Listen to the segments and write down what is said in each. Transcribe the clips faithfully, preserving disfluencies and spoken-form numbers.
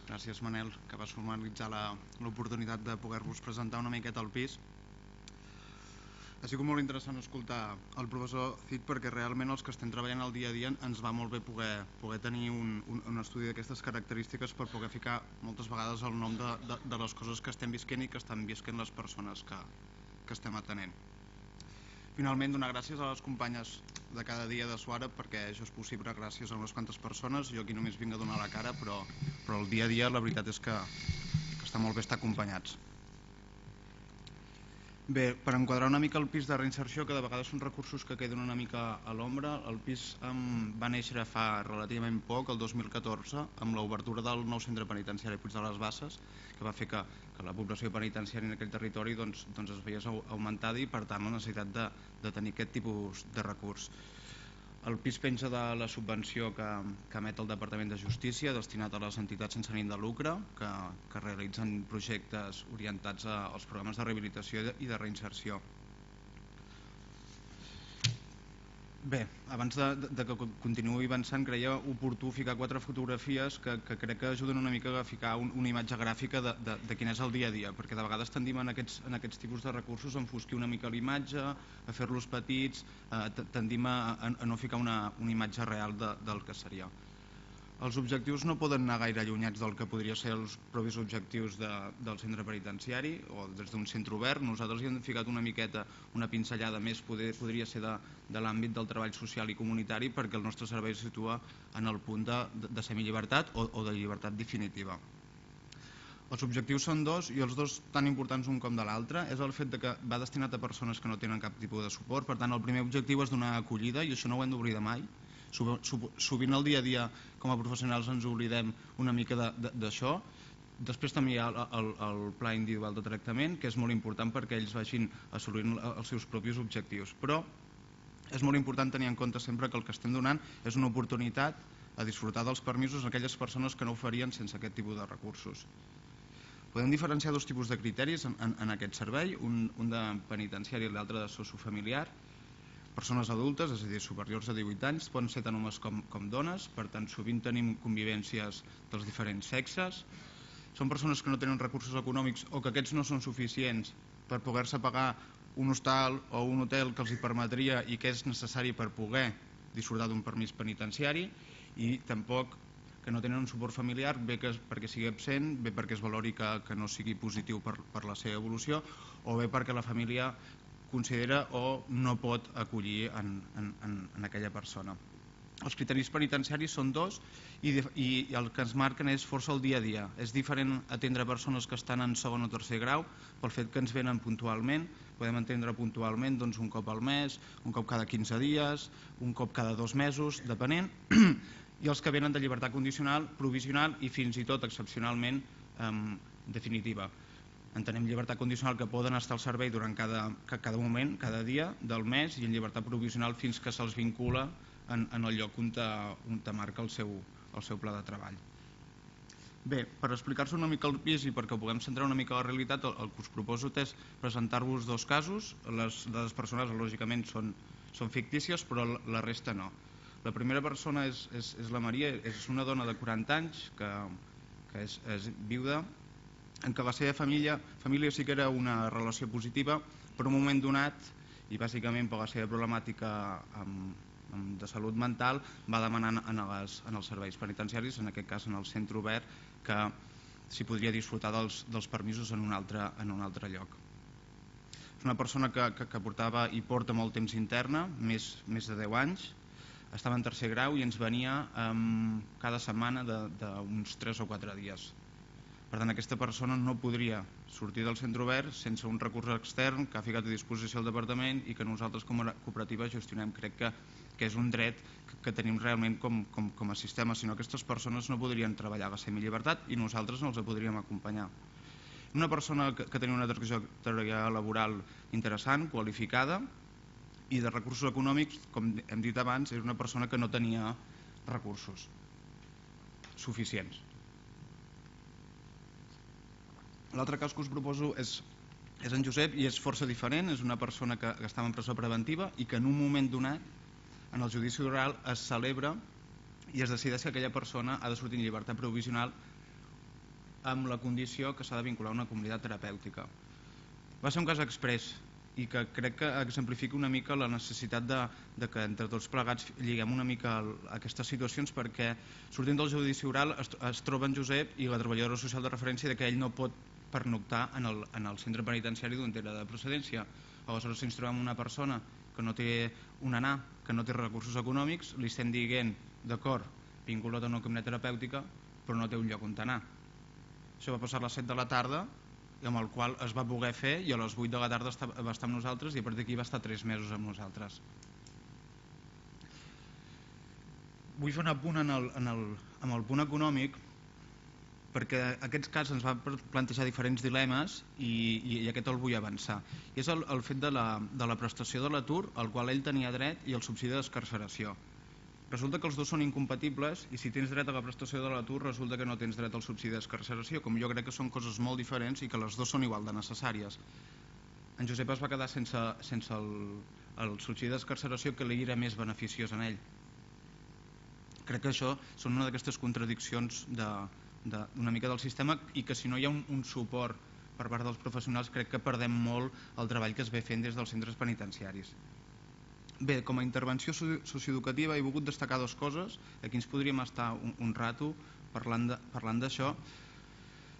gràcies Manel, que vas formalitzar l'oportunitat de poder-vos presentar una miqueta al pis. Ha sigut molt interessant escoltar el professor Cid, perquè realment els que estem treballant al dia a dia ens va molt bé poder, poder tenir un, un, un estudi d'aquestes característiques per poder ficar moltes vegades el nom de, de, de les coses que estem visquent i que estan visquent les persones que, que estem atenent. Finalment, donar gràcies a les companyes de cada dia de Suara, perquè això és possible gràcies a unes quantes persones. Jo aquí només vinc a donar la cara, però, però el dia a dia la veritat és que, que està molt bé estar acompanyats. Bé, per enquadrar una mica el pis de reinserció, que de vegades són recursos que queden una mica a l'ombra, el pis um, va néixer fa relativament poc, el dos mil catorze, amb l'obertura del nou centre penitenciari Puig de les Basses, que va fer que, que la població penitenciària en aquell territori doncs, doncs es veiés augmentada i per tant la necessitat de, de tenir aquest tipus de recurs. El pis penja de la subvenció que, que emet el Departament de Justícia, destinat a les entitats sense ànim de lucre, que, que realitzen projectes orientats als programes de rehabilitació i de reinserció. Bé, abans de, de que continuï avançant, creia oportú ficar quatre fotografies que, que crec que ajuden una mica a ficar un, una imatge gràfica de, de, de quin és el dia a dia, perquè de vegades tendim en aquests, en aquests tipus de recursos a enfosquir una mica l'imatge, a fer-los petits, eh, tendim a, a no ficar una, una imatge real de, del que seria. Els objectius no poden anar gaire allunyats del que podria ser els propis objectius de, del centre penitenciari o des d'un centre obert. Nosaltres hi hem ficat una miqueta, una pinzellada més, poder, podria ser de, de l'àmbit del treball social i comunitari, perquè el nostre servei se situa en el punt de, de semillibertat o, o de llibertat definitiva. Els objectius són dos i els dos tan importants un com de l'altre. És el fet de que va destinat a persones que no tenen cap tipus de suport. Per tant, el primer objectiu és donar acollida i això no ho hem d'oblidar mai. Sovint al dia a dia com a professionals ens oblidem una mica d'això. Després també hi ha el, el, el pla individual de tractament, que és molt important perquè ells vagin assolint els seus propis objectius, però és molt important tenir en compte sempre que el que estem donant és una oportunitat a disfrutar dels permisos a aquelles persones que no ho farien sense aquest tipus de recursos. Podem diferenciar dos tipus de criteris en, en, en aquest servei, un, un de penitenciari i l'altre de sociofamiliar. Persones adultes, és a dir, superiors a divuit anys, poden ser tant homes com, com dones, per tant sovint tenim convivències dels diferents sexes. Són persones que no tenen recursos econòmics o que aquests no són suficients per poder-se pagar un hostal o un hotel que els hi permetria i que és necessari per poder disfrutar d'un permís penitenciari, i tampoc que no tenen un suport familiar, bé que, perquè sigui absent, bé perquè es valori que, que no sigui positiu per, per la seva evolució, o bé perquè la família considera o no pot acollir en, en, en aquella persona. Els criteris penitenciaris són dos i, i el que ens marquen és força el dia a dia. És diferent atendre persones que estan en segon o tercer grau pel fet que ens venen puntualment. Podem atendre puntualment doncs, un cop al mes, un cop cada quinze dies, un cop cada dos mesos, depenent, i els que venen de llibertat condicional, provisional i fins i tot excepcionalment eh, definitiva. Entenem llibertat condicional que poden estar al servei durant cada, cada moment, cada dia del mes, i en llibertat provisional fins que se'ls vincula en, en el lloc on te, on te marca el seu, el seu pla de treball. Bé, per explicar-se una mica el pis i perquè puguem centrar una mica la realitat, el, el que us proposo és presentar-vos dos casos. Les dades personals lògicament són, són fictícies, però la resta no. La primera persona és, és, és la Maria, és una dona de quaranta anys que, que és, és viuda, en què la seva família, família sí que era una relació positiva, però en un moment donat, i bàsicament per la seva problemàtica amb, amb de salut mental, va demanar en, les, en els serveis penitenciaris, en aquest cas en el centre obert, que s'hi podria disfrutar dels, dels permisos en un, altre, en un altre lloc. És una persona que, que, que portava i porta molt temps interna, més, més de deu anys, estava en tercer grau i ens venia um, cada setmana d'uns tres o quatre dies. Per tant, aquesta persona no podria sortir del centre obert sense un recurs extern que ha ficat a disposició el departament i que nosaltres com a cooperativa gestionem. Crec que, que és un dret que, que tenim realment com, com, com a sistema, sinó que aquestes persones no podrien treballar a la semillibertat i nosaltres no els podríem acompanyar. Una persona que, que tenia una trajectòria laboral interessant, qualificada i de recursos econòmics, com hem dit abans, és una persona que no tenia recursos suficients. L'altre cas que us proposo és, és en Josep i és força diferent. És una persona que, que estava en presó preventiva i que en un moment donat, en el judici oral, es celebra i es decideix que aquella persona ha de sortir en llibertat provisional amb la condició que s'ha de vincular a una comunitat terapèutica. Va ser un cas exprés i que crec que exemplifica una mica la necessitat de, de que entre tots plegats lliguem una mica aquestes situacions, perquè sortint del judici oral es, es troba en Josep i la treballadora social de referència de que ell no pot pernoctar en el, en el centre penitenciari d'on era de procedència. Aleshores, si ens trobem una persona que no té un anar, que no té recursos econòmics, li estem dient, d'acord, vinculat a una comunitat terapèutica, però no té un lloc on anar. Això va passar a les set de la tarda, amb el qual es va poder fer, i a les vuit de la tarda va estar amb nosaltres i a partir d'aquí va estar tres mesos amb nosaltres. Vull fer un apunt en el, en el, en el punt econòmic, perquè aquests casos ens van plantejar diferents dilemes i, i, i aquest el vull avançar. I és el, el fet de la, de la prestació de l'atur, al qual ell tenia dret, i el subsidi d'excarceració. Resulta que els dos són incompatibles i si tens dret a la prestació de l'atur resulta que no tens dret al subsidi d'excarceració, com jo crec que són coses molt diferents i que les dues són igual de necessàries. En Josep es va quedar sense, sense el, el subsidi d'excarceració, que li era més beneficiós en ell. Crec que això són una d'aquestes contradiccions de, de, una mica del sistema, i que si no hi ha un, un suport per part dels professionals crec que perdem molt el treball que es ve fent des dels centres penitenciaris. Bé, com a intervenció socioeducativa he volgut destacar dues coses. Aquí ens podríem estar un, un rato parlant d'això.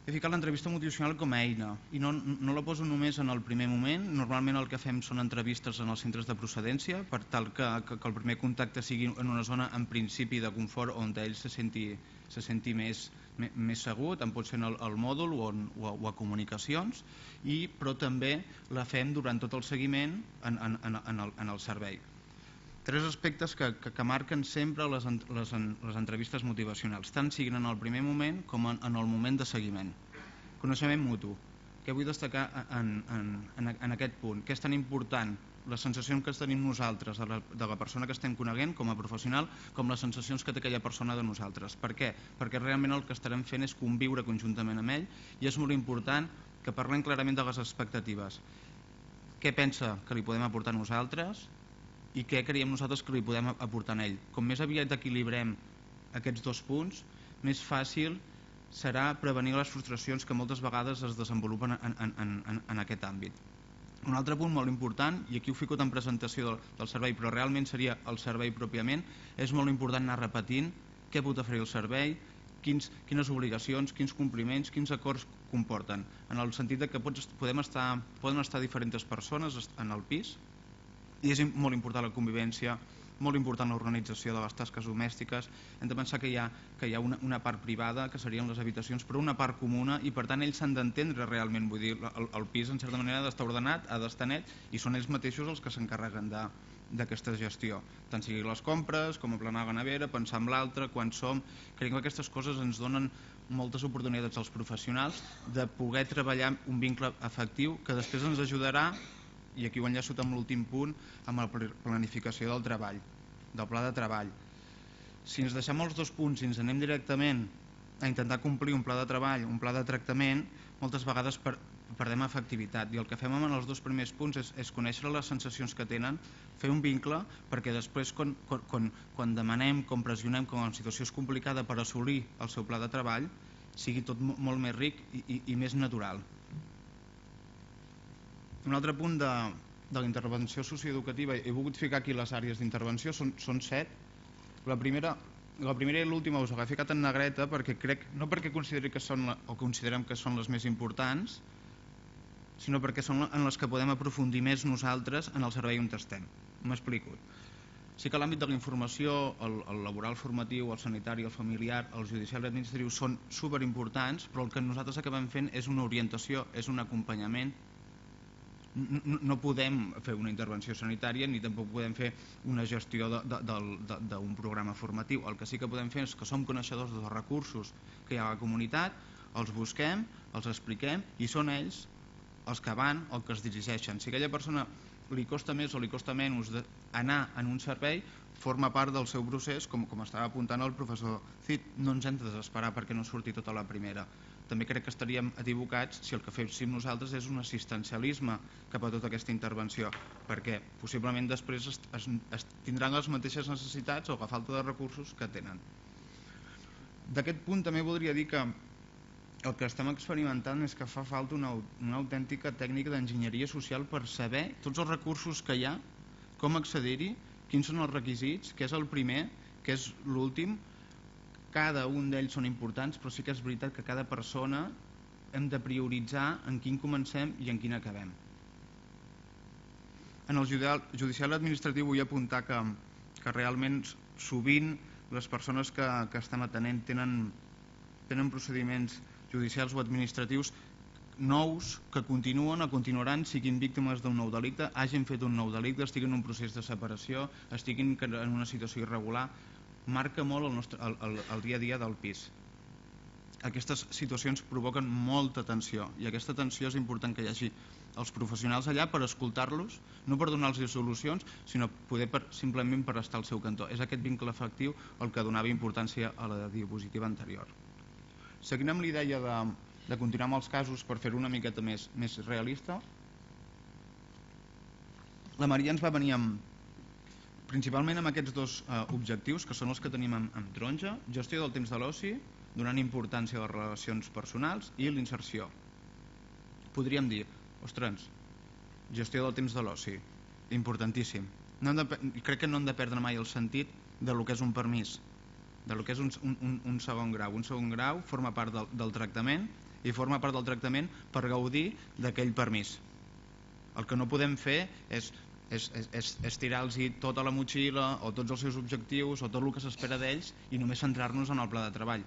He ficat l'entrevista motivacional com a eina i no, no la poso només en el primer moment. Normalment el que fem són entrevistes en els centres de procedència per tal que, que, que el primer contacte sigui en una zona en principi de confort on ell se senti, se senti més, més segur, tant pot ser al, al mòdul o, en, o, a, o a comunicacions, i, però també la fem durant tot el seguiment en, en, en, en, el, en el servei. Tres aspectes que, que, que marquen sempre les, les, les entrevistes motivacionals, tant siguin en el primer moment com en, en el moment de seguiment. Coneixement mutu. Què vull destacar en, en, en, en aquest punt? Què és tan important? Les sensacions que tenim nosaltres de la, de la persona que estem coneguent com a professional, com les sensacions que té aquella persona de nosaltres. Per què? Perquè realment el que estarem fent és conviure conjuntament amb ell, i és molt important que parlem clarament de les expectatives. Què pensa que li podem aportar a nosaltres i què creiem nosaltres que li podem aportar a ell. Com més aviat equilibrem aquests dos punts, més fàcil serà prevenir les frustracions que moltes vegades es desenvolupen en, en, en, en aquest àmbit. Un altre punt molt important, i aquí ho fico en presentació del, del servei, però realment seria el servei pròpiament, és molt important anar repetint què pot oferir el servei, quins, quines obligacions, quins compliments, quins acords comporten, en el sentit de que pots, podem estar, poden estar diferents persones en el pis, i és molt important la convivència, molt important l'organització de les tasques domèstiques. Hem de pensar que hi ha, que hi ha una, una part privada, que serien les habitacions, però una part comuna, i per tant ells s'han d'entendre realment. Vull dir, el, el pis en certa manera ha d'estar ordenat, ha d'estar net, i són ells mateixos els que s'encarreguen d'aquesta gestió, tant sigui les compres com aplanar la nevera, pensar en l'altre, quan som. Crec que aquestes coses ens donen moltes oportunitats als professionals de poder treballar un vincle afectiu que després ens ajudarà, i aquí ho enllaço amb l'últim punt, amb la planificació del treball, del pla de treball. Si ens deixem els dos punts i ens anem directament a intentar complir un pla de treball, un pla de tractament, moltes vegades per, perdem efectivitat, i el que fem amb els dos primers punts és, és conèixer les sensacions que tenen, fer un vincle, perquè després quan, quan, quan demanem, quan pressionem, quan la situació és complicada per assolir el seu pla de treball, sigui tot molt més ric i, i, i més natural. Un altre punt de, de la intervenció socioeducativa, he volgut ficar aquí les àrees d'intervenció, són, són set. La primera, la primera i l'última us l'he ficat en negreta perquè crec, no perquè consideri que són la, o considerem que són les més importants, sinó perquè són en les que podem aprofundir més nosaltres en el servei on estem. M'explico. Sí que l'àmbit de la informació, el, el laboral formatiu, el sanitari, el familiar, el judicial i administratiu són superimportants, però el que nosaltres acabem fent és una orientació, és un acompanyament. No podem fer una intervenció sanitària ni tampoc podem fer una gestió d'un programa formatiu. El que sí que podem fer és que som coneixedors dels recursos que hi ha a la comunitat, els busquem, els expliquem i són ells els que van o que es dirigeixen. Si a aquella persona li costa més o li costa menys anar en un servei, forma part del seu procés, com, com estava apuntant el professor Cid. No ens hem de desesperar perquè no surti tota la primera. També crec que estaríem equivocats si el que féssim nosaltres és un assistencialisme cap a tota aquesta intervenció, perquè possiblement després es, es, es tindran les mateixes necessitats o la falta de recursos que tenen. D'aquest punt també voldria dir que el que estem experimentant és que fa falta una, una autèntica tècnica d'enginyeria social per saber tots els recursos que hi ha, com accedir-hi, quins són els requisits, què és el primer, què és l'últim. Cada un d'ells són importants, però sí que és veritat que cada persona hem de prioritzar en quin comencem i en quin acabem. En el judicial administratiu vull apuntar que, que realment sovint les persones que, que estem atenent tenen, tenen procediments judicials o administratius nous que continuen o continuaran, siguin víctimes d'un nou delicte, hagin fet un nou delicte, estiguin en un procés de separació, estiguin en una situació irregular. Marca molt el, nostre, el, el, el dia a dia del pis. Aquestes situacions provoquen molta tensió i aquesta tensió és important que hi hagi els professionals allà per escoltar-los, no per donar-los solucions, sinó poder per, simplement per estar al seu cantó. És aquest vincle afectiu el que donava importància a la diapositiva anterior. Seguint amb l'idea de, de continuar amb els casos per fer-ho una miqueta més, més realista, la Maria ens va venir amb, principalment amb aquests dos eh, objectius, que són els que tenim en, en taronja: gestió del temps de l'oci, donant importància a les relacions personals, i l'inserció. Podríem dir, ostres, gestió del temps de l'oci, importantíssim. No hem de, crec que no hem de perdre mai el sentit de lo que és un permís, de lo que és un, un, un segon grau. Un segon grau forma part del, del tractament i forma part del tractament per gaudir d'aquell permís. El que no podem fer és, és, és, és tirar-los tota la motxilla o tots els seus objectius o tot el que s'espera d'ells i només centrar-nos en el pla de treball,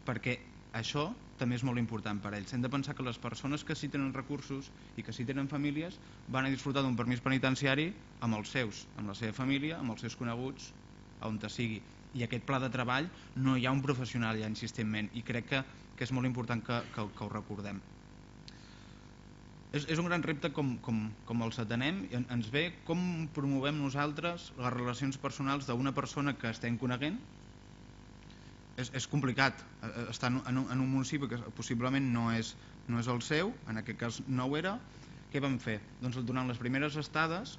perquè això també és molt important per a ells. Hem de pensar que les persones que sí tenen recursos i que sí tenen famílies van a disfrutar d'un permís penitenciari amb els seus, amb la seva família, amb els seus coneguts, on sigui. I aquest pla de treball no hi ha un professional ja insistentment, i crec que, que és molt important que, que, que ho recordem. És, és un gran repte com, com, com els atenem. Ens ve com promovem nosaltres les relacions personals d'una persona que estem coneguent. És, és complicat estar en un, en un municipi que possiblement no és, no és el seu, en aquest cas no ho era. Què vam fer? Doncs durant les primeres estades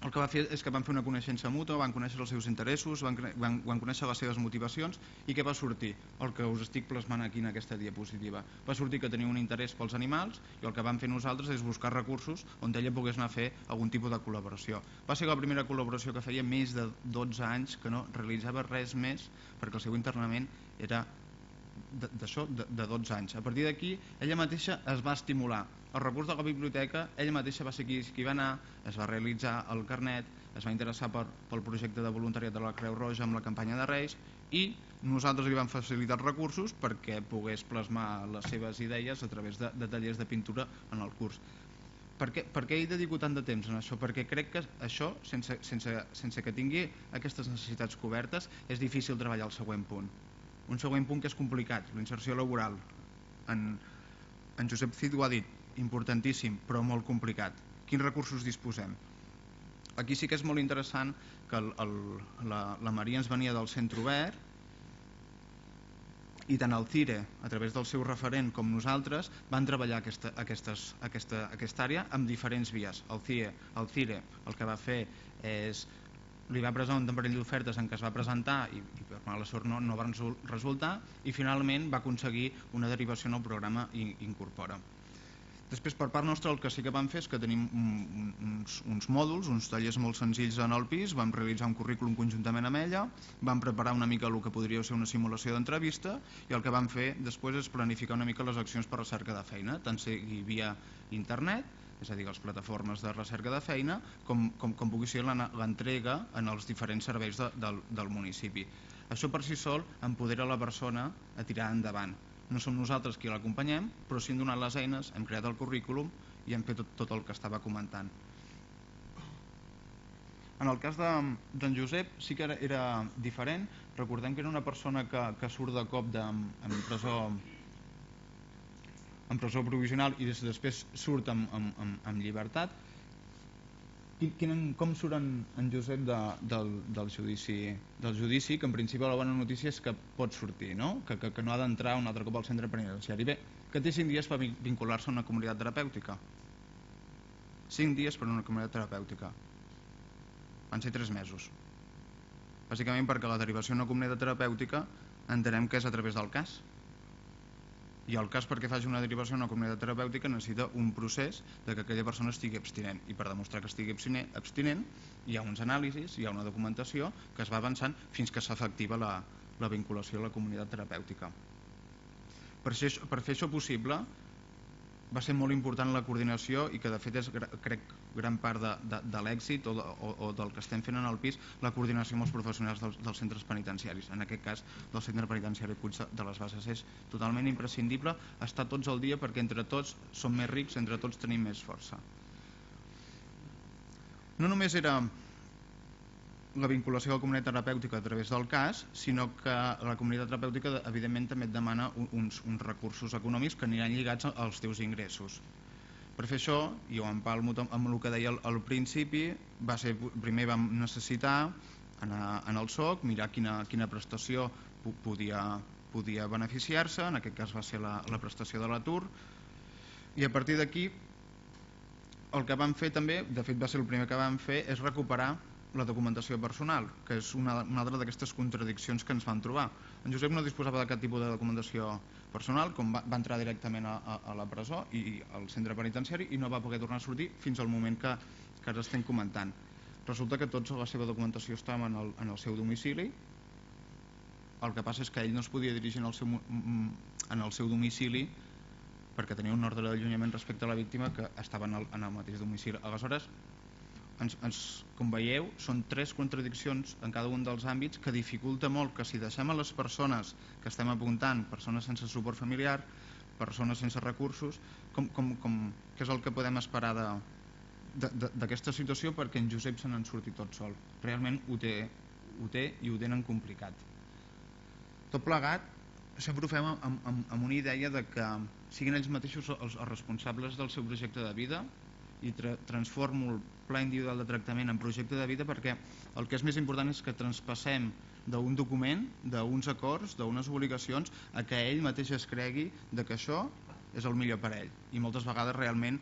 el que va fer és que van fer una coneixença mútua, van conèixer els seus interessos, van, van, van conèixer les seves motivacions. I què va sortir? El que us estic plasmant aquí en aquesta diapositiva. Va sortir que tenia un interès pels animals i el que vam fer nosaltres és buscar recursos on ella pogués anar a fer algun tipus de col·laboració. Va ser la primera col·laboració que feia més de dotze anys, que no realitzava res més perquè el seu internament era d'això, de, de dotze anys. A partir d'aquí ella mateixa es va estimular. El recurs de la biblioteca, ella mateixa va ser qui, qui va anar, es va realitzar el carnet, es va interessar per, pel projecte de voluntariat de la Creu Roja amb la campanya de Reis, i nosaltres li vam facilitar els recursos perquè pogués plasmar les seves idees a través de, de tallers de pintura en el curs. Per què, per què hi dedico tant de temps en això? Perquè crec que això, sense, sense, sense que tingui aquestes necessitats cobertes, és difícil treballar el següent punt. Un següent punt que és complicat, la inserció laboral. En, en Josep Cid ho ha dit, importantíssim, però molt complicat. Quins recursos disposem? Aquí sí que és molt interessant que el, el, la, la Maria ens venia del centre obert, i tant el CIRE, a través del seu referent, com nosaltres, van treballar aquesta, aquestes, aquesta, aquesta àrea amb diferents vies. El CIRE, el CIRE el que va fer és li va presentar un parell d'ofertes en què es va presentar i, i per mala sort no, no van resultar, i finalment va aconseguir una derivació en el programa Incorpora. Després, per part nostra, el que sí que vam fer és que tenim uns, uns mòduls, uns tallers molt senzills en el pis, vam realitzar un currículum conjuntament amb ella, vam preparar una mica el que podria ser una simulació d'entrevista, i el que vam fer després és planificar una mica les accions per recerca de feina, tant sigui via internet, és a dir, les plataformes de recerca de feina, com, com, com pugui ser l'entrega en els diferents serveis de, del, del municipi. Això per si sol empodera la persona a tirar endavant. No som nosaltres qui l'acompanyem, però sí hem donat les eines, hem creat el currículum i hem fet tot, tot el que estava comentant. En el cas d'en de, Josep sí que era, era diferent. Recordem que era una persona que, que surt de cop de, en presó en presó provisional i des, després surt amb, amb, amb, amb llibertat. Quin, com surt en, en Josep de, del, del, judici, del judici, que en principi la bona notícia és que pot sortir, no? que, que, que no ha d'entrar un altre cop al centre penitenciari. Bé, que té cinc dies per vincular-se a una comunitat terapèutica. cinc dies per a una comunitat terapèutica. Van ser tres mesos. Bàsicament perquè la derivació a una comunitat terapèutica entenem que és a través del cas. I el cas perquè faci una derivació a una comunitat terapèutica necessita un procés de que aquella persona estigui abstinent, i per demostrar que estigui abstinent hi ha uns anàlisis, hi ha una documentació que es va avançant fins que s'efectiva la, la vinculació a la comunitat terapèutica. Per fer, per fer això possible va ser molt important la coordinació, i que de fet és, crec, gran part de, de, de l'èxit o, de, o, o del que estem fent en el pis, la coordinació amb els professionals dels, dels centres penitenciaris. En aquest cas, del centre penitenciari Puig de les Basses és totalment imprescindible estar tots al dia, perquè entre tots som més rics, entre tots tenim més força. No només era la vinculació a la comunitat terapèutica a través del cas, sinó que la comunitat terapèutica evidentment també et demana uns, uns recursos econòmics que aniran lligats als teus ingressos. Per fer això, i ho empalmo amb el que deia al, al principi, va ser, primer vam necessitar anar en el S O C, mirar quina, quina prestació podia, podia beneficiar-se, en aquest cas va ser la, la prestació de l'atur, i a partir d'aquí el que vam fer també, de fet va ser el primer que vam fer, és recuperar la documentació personal, que és una, una altra d'aquestes contradiccions que ens vam trobar. En Josep no disposava de cap tipus de documentació personal, com va, va entrar directament a, a, a la presó i al centre penitenciari, i no va poder tornar a sortir fins al moment que, que ara estem comentant. Resulta que tota la seva documentació estava en el, en el seu domicili. El que passa és que ell no es podia dirigir en el seu, en el seu domicili perquè tenia un ordre d'allunyament respecte a la víctima que estava en el, en el mateix domicili. Aleshores, Ens, ens, com veieu, són tres contradiccions en cada un dels àmbits que dificulta molt que si deixem a les persones que estem apuntant, persones sense suport familiar, persones sense recursos, com, com, com, què és el que podem esperar d'aquesta situació, perquè en Josep se n'en surti tot sol. Realment ho té, ho té i ho tenen complicat. Tot plegat, sempre ho fem amb, amb, amb una idea de que siguin ells mateixos els, els responsables del seu projecte de vida, i tra transformo el pla individual de tractament en projecte de vida, perquè el que és més important és que traspassem d'un document, d'uns acords, d'unes obligacions, a que ell mateix es cregui de que això és el millor per a ell. I moltes vegades realment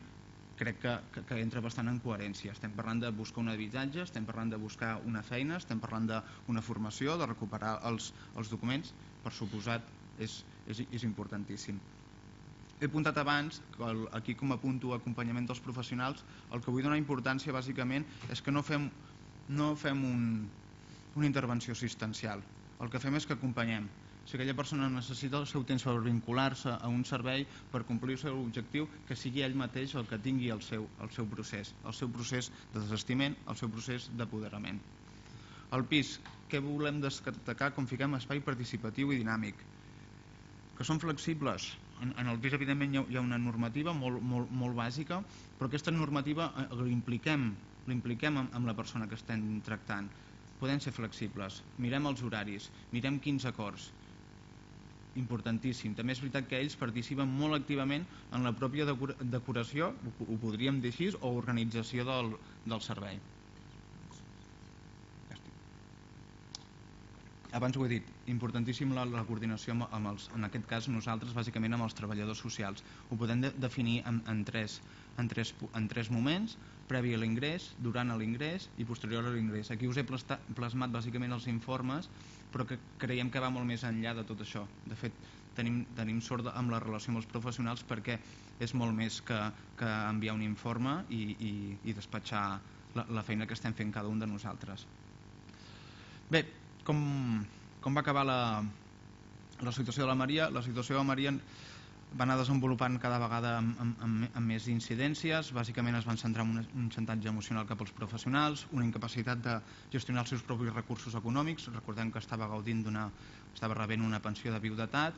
crec que, que, que entra bastant en coherència. Estem parlant de buscar un habitatge, estem parlant de buscar una feina, estem parlant d'una formació, de recuperar els, els documents. Per suposat, és, és, és importantíssim. He apuntat abans, que el, aquí com a punto acompanyament dels professionals, el que vull donar importància bàsicament és que no fem, no fem un, una intervenció assistencial. El que fem és que acompanyem. Si aquella persona necessita el seu temps per vincular-se a un servei per complir el seu objectiu, que sigui ell mateix el que tingui el seu, el seu procés, el seu procés de desestiment, el seu procés d'apoderament. Al pis, què volem destacar com fiquem espai participatiu i dinàmic? Que són flexibles. En, en el pis, evidentment, hi ha una normativa molt, molt, molt bàsica, però aquesta normativa l'impliquem l'impliquem amb, amb la persona que estem tractant. Podem ser flexibles, mirem els horaris, mirem quins acords. Importantíssim. També és veritat que ells participen molt activament en la pròpia decoració, ho podríem dir així, o organització del, del servei. Abans ho he dit, importantíssim la, la coordinació amb, amb els, en aquest cas nosaltres bàsicament amb els treballadors socials. Ho podem de, definir en, en, tres, en, tres, en tres moments: previ a l'ingrés, durant l'ingrés i posterior a l'ingrés. Aquí us he plasmat bàsicament els informes, però que creiem que va molt més enllà de tot això. De fet, tenim, tenim sort amb la relació amb els professionals, perquè és molt més que, que enviar un informe i, i, i despatxar la, la feina que estem fent cada un de nosaltres. Bé, Com, com va acabar la, la situació de la Maria? La situació de la Maria va anar desenvolupant cada vegada amb, amb, amb, amb més incidències. Bàsicament es van centrar en un, un xantatge emocional cap als professionals, una incapacitat de gestionar els seus propis recursos econòmics. Recordem que estava gaudint d'una, estava rebent una pensió de viudetat,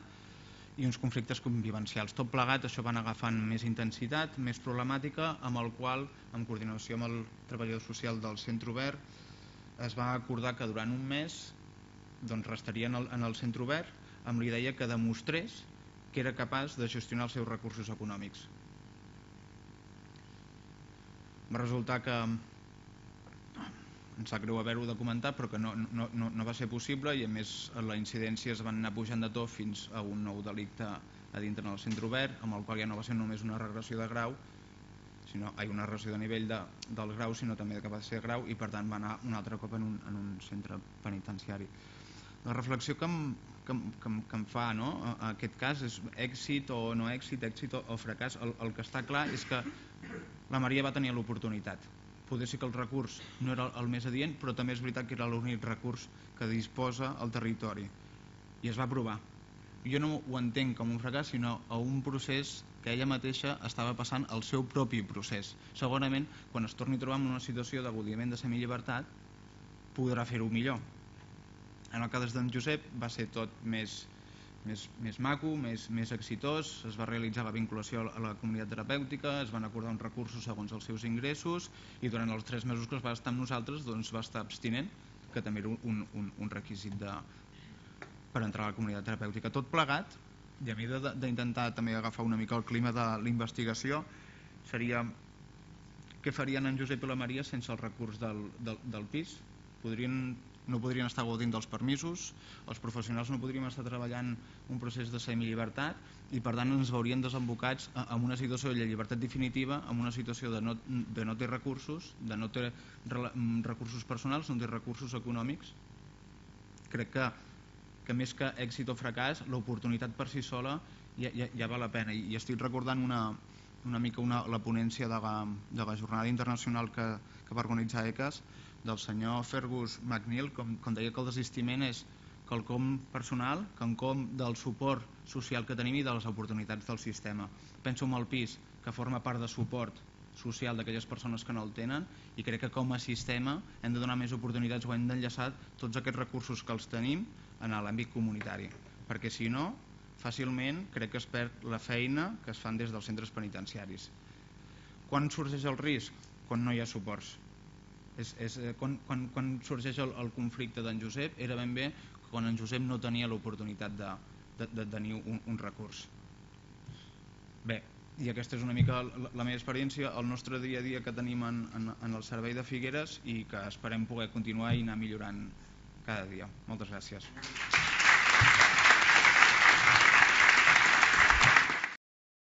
i uns conflictes convivencials. Tot plegat, això van agafant més intensitat, més problemàtica, amb el qual, en coordinació amb el treballador social del centre obert, es va acordar que durant un mes doncs, restaria en el, en el centre obert amb la idea que demostrés que era capaç de gestionar els seus recursos econòmics. Va resultar que em sap greu haver-ho de comentar, però que no, no, no, no va ser possible, i a més la incidència es van anar pujant de to fins a un nou delicte a dintre del centre obert, amb el qual ja no va ser només una regressió de grau, sinó hi ha una regressió de nivell de, del grau, sinó també de capacitat de grau, i per tant va anar un altre cop en un, en un centre penitenciari. La reflexió que em, que, em, que, em, que em fa, no? A aquest cas és èxit o no èxit, èxit o, o fracàs. El, el que està clar és que la Maria va tenir l'oportunitat. Poder ser que el recurs no era el més adient, però també és veritat que era l'únic recurs que disposa el territori. I es va aprovar. Jo no ho entenc com un fracàs, sinó a un procés que ella mateixa estava passant el seu propi procés. Segurament, quan es torni a trobar en una situació d'agudiment de semillibertat, podrà fer-ho millor. En el cas d'en Josep va ser tot més, més, més maco, més, més exitós, es va realitzar la vinculació a la comunitat terapèutica, es van acordar uns recursos segons els seus ingressos i durant els tres mesos que es va estar amb nosaltres doncs va estar abstinent, que també era un, un, un requisit de, per entrar a la comunitat terapèutica. Tot plegat, i a mi d'intentar també agafar una mica el clima de la investigació, seria què farien en Josep i la Maria sense el recurs del, del, del pis? Podrien, no podrien estar gaudint dels permisos, els professionals no podríem estar treballant un procés de semillibertat i per tant ens veurien desembocats en una situació de llibertat definitiva, en una situació de no, de no ter recursos, de no ter recursos personals, no ter recursos econòmics. Crec que, que més que èxit o fracàs, l'oportunitat per si sola ja, ja, ja val la pena. I, i estic recordant una, una mica una, la ponència de la, de la jornada internacional que, que va organitzar E C A S, del senyor Fergus McNeil, com, com deia que el desistiment és quelcom personal, quelcom del suport social que tenim i de les oportunitats del sistema. Penso en el pis, que forma part de suport social d'aquelles persones que no el tenen, i crec que com a sistema hem de donar més oportunitats o hem d'enllaçar tots aquests recursos que els tenim en l'àmbit comunitari, perquè si no, fàcilment crec que es perd la feina que es fan des dels centres penitenciaris. Quan sorgeix el risc? Quan no hi ha suports. És, és, quan, quan, quan sorgeix el, el conflicte d'en Josep era ben bé quan en Josep no tenia l'oportunitat de, de, de tenir un, un recurs. Bé, i aquesta és una mica la, la meva experiència, el nostre dia a dia que tenim en, en, en el servei de Figueres i que esperem poder continuar i anar millorant cada dia. Moltes gràcies.